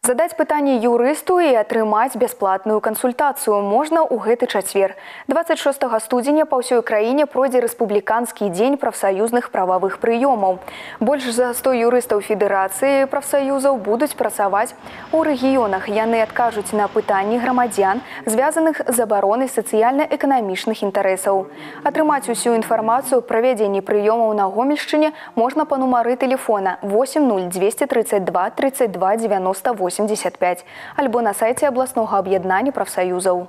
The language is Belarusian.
Задаць пытанне юрысту і атрымаць бясплатную кансультацыю можна ў гэты чацвер. 26 студзеня па ўсёй краіне пройдзе рэспубліканскі дзень прафсаюзных прававых прыёмаў. Больш за 100 юрыстаў федэрацыі прафсаюзаў будуць працаваць у рэгіёнах. Яны адкажуць на пытанні грамадзян, звязаных з абаронай сацыяльна-эканамічных інтарэсаў. Атрымаць усю інфармацыю пра правядзенні прыёмаў на Гомельшчыне можна па нумары тэлефона 80232 32 98 85 альбо на сайце абласнога аб'яднання прафсаюзаў.